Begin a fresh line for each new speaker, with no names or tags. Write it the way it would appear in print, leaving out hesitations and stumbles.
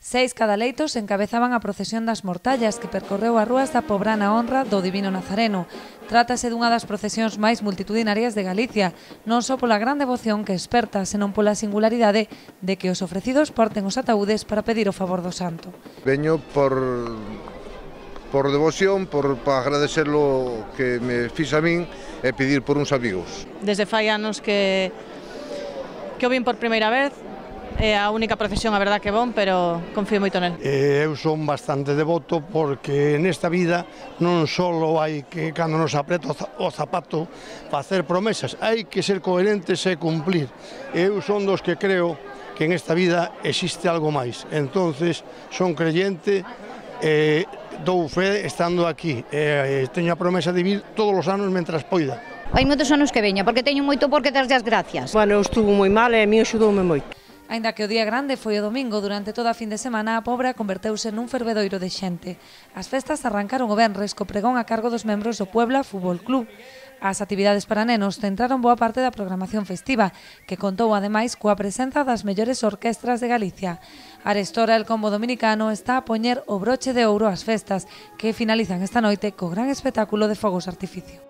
6 cadaleitos encabezaban a procesión das Mortallas que percorreu as rúas da Pobrana honra do Divino Nazareno. Trátase dunha das procesións máis multitudinarias de Galicia, non só pola gran devoción que esperta, senón pola singularidade de que os ofrecidos porten os ataúdes para pedir o favor do santo.
Veño por devoción, para agradecer lo que me fiz a min e pedir por uns amigos.
Desde fai anos que o vin por primeira vez. É a única procesión, a verdad que bon, pero confío moito nel.
Eu son bastante devoto porque nesta vida non só hai que, cando nos apreta o zapato, facer promesas, hai que ser coherentes e cumplir. Eu son dos que creo que en esta vida existe algo máis. Entonces, son creyente e dou fe estando aquí. Teño a promesa de vivir todos os anos mentras poida.
Hai moitos anos que veño, porque teño moito por que darlle as gracias.
Bueno, estuvo moi mal e a mí axudoume moito.
Aínda que o día grande foi o domingo, durante toda a fin de semana a Pobra converteuse nun fervedoiro de xente. As festas arrancaron o venres co pregón a cargo dos membros do Puebla Fútbol Club. As actividades para nenos centraron boa parte da programación festiva, que contou ademais coa presenza das mellores orquestras de Galicia. Arestora, el combo dominicano, está a poñer o broche de ouro ás festas, que finalizan esta noite co gran espectáculo de fogos artificio.